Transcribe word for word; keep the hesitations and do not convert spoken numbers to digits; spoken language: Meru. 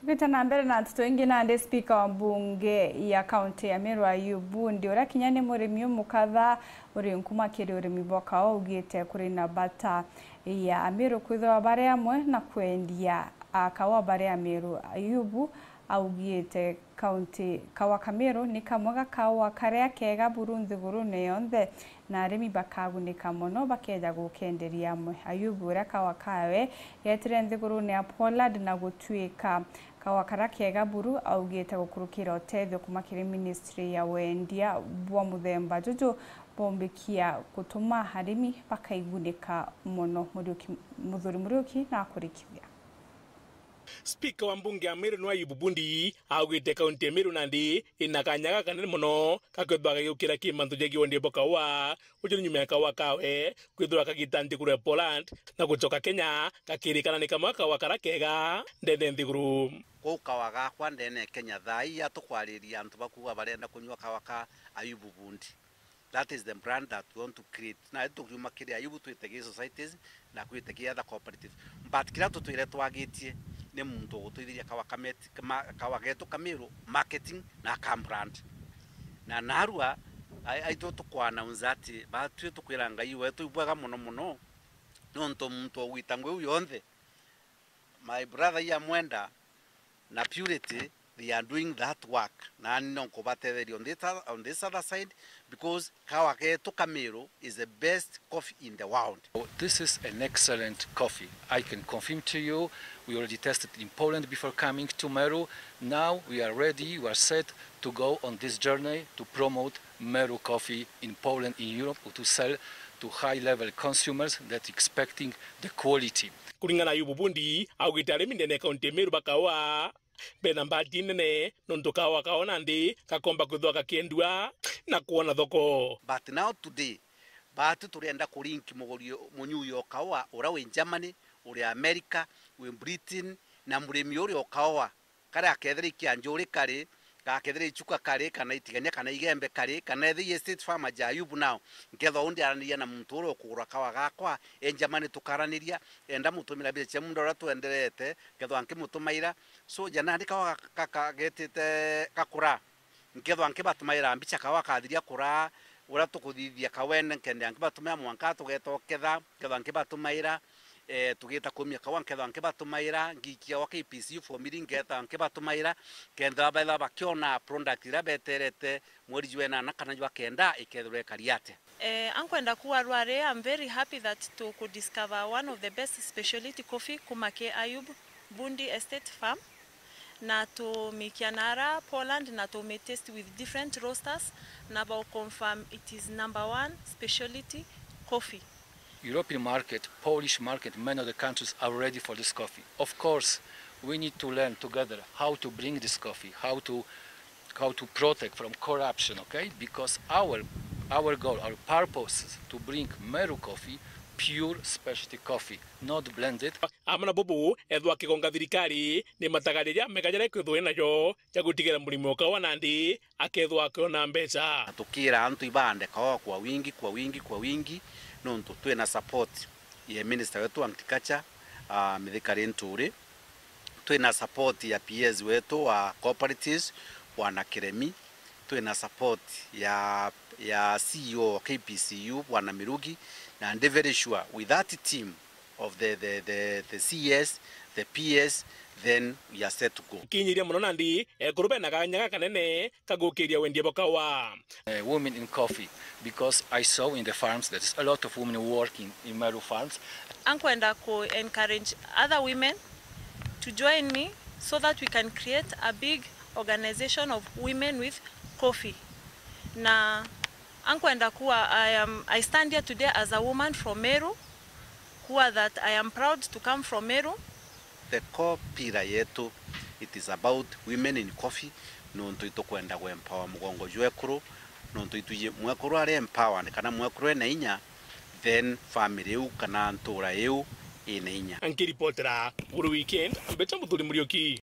Tugite na mbere na nteto ingi, nandi spika wa mbunge ya kaunti ya Meru Ayub Bundi, uria kinya ni murimi umukatha uri nkuma kiri urimi bwa kawa, augite kuri na bata ya Ameru kwithirwa bari amwe na kwendia a kawa bari Ameru. Ayubu augite kaunti, kawa ka Meru ni kamwe ga kawa karia kega buru nthigurune yonthe, na arimi bakagunika mono bakeja gukenderia amwe. Ayubu, uria kawa kawe getire nthigurune ya Poland na gutuika kawa karia kega buru, augite gukurukira utethio kuma kiri ministry ya wendia bwa muthemba juju, bombikia gutuma arimi bakaigunika mono. Muriuki, Muthuri Muriuki na akurikithia. Spika wa mbunge ya Meru ni Ayubu Bundi augite kaunti ya Meru nandi ina kanya gakanene mono ga kwithirwa kagiukira ki mantu jegie wendia bwa kawa, uju ni nyuma ya kawa kawe kwithirwa kagita nthiguru ya Poland na gucoka Kenya, gakirikana ni kamwe ga kawa karia kega ndene nthiguru. Kuu kawa gakwa ndene Kenya thaa ii atukwariria antu bakuuga barenda kunyua kawa ka Ayubu Bundi. That is the brand that we want to create. Na tukiuma kiri Ayubu twite gi societies na kwite gi other cooperative. But kiria tutwire twagitie ni muntu ugutwithiria kawa ka met-, kama, kawa getu ka Meru marketing na ka brand. Na narua, ai-, aitu tukwa announce ati batwi tukwira Ngai wetu ibwega mono mono, nontu muntu ugwita ngui iu yonthe. My brother Iyamwenda na Purity, they are doing that work. Nani no nkubatetheria on this, on this other side, because kawa getu ka Meru is the best coffee in the world. This is an excellent coffee. I can confirm to you, we already tested in Poland before coming to Meru. Now we are ready, we are set to go on this journey to promote Meru coffee in Poland, in Europe, to sell to high level consumers that expecting the quality. Kuringana na Ayubu Bundi, augite arimi ndene ya kaunti ya Meru ba kawa bena mbati nene, nontu kawa kao nandi gakomba kwithwa gakiendua na kwona thoko. But now today, batwi turienda kurinki muguri, munyui o kawa uria wi Germany, uri America, wi Britain, na murimi uria o kawa karia akethira i kia njuri kari, gakethira i chuka kari, kana itigania, kana igembe kari, kana ethira i estate farmer ja Ayubu now, nkethwa undi araniria na muntu uria ukugura kawa gakwa, e Germany tukaraniria, enda mutumira mbeca cia muunda uria twenderete, nkethwa nkimutumaira. So, ja nandi kawa gaka, gaka getite gakura, nkethwa nkibatumaira mbica kawa kathiria kuraa, uria tukuthithia kawene, nkenda nkibatumaira mwanka tugeta uketha, nkethwa nkibatumaira, eh, tugita kumia kawa, nkethwa nkibatumaira, ngikia gwa K P C U formiri, nkethwa nkibatumaira, kenda betha bakiona product iria beterete mweri jwa enana kana jwa kenda ikethirwa ikari atia. Eh, ankwenda kuuga rwari, I'm very happy that to could discover one of the best speciality coffee kuma ki Ayub Bundi Estate Farm, na tumikia nara Poland, na tumitaste with different roasters, na bao confirm it is number one speciality coffee. European market, Polish market, many of the countries are ready for this coffee. Of course, we need to learn together how to bring this coffee, how to, how to protect from corruption, okay? Because our, our goal, our purpose is to bring Meru coffee, pure specialty coffee, not blended. Amwe na bubu, ethwa akigonga thirikari ni matagariria mega jaria kwithwa najo ja gutigira murimi o kawa nandi akethwa akiona mbeca. Na tukira antu ibande kawa kwa wingi, kwa wingi, kwa wingi, nontu twina support ya minister wetu wa agriculture, ah, Mithika Linturi. Twina support ya P S wetu wa cooperatives, Bwana Kiremi. Twina support ya, ya C E O wa K P C U, Bwana Mirugi, na ndi very sure with that team of the, the, the, the C S, the P S, then we are set to go. Kinyiria mono nandi, ekuru bena kanya gakanene ka gukiria wendia bwa kawa. Uh, women in coffee, because I saw in the farms that is a lot of women working in Meru farms. Ankwenda ku encourage other women to join me so that we can create a big organization of women with coffee. Na ankwenda kuwa, I am, I stand here today as a woman from Meru, kuwa that I am proud to come from Meru. The core pillar yetu, it is about women in coffee, nontu itukwenda ku empower mugongo jwa ekuru, nontu itwiji mwekuru ari empowered kana mwekuru ena inya, then family iu kana ntura iu ina inya. Nkiripotera Guru Weekend, mbeta Muthuri Muriuki.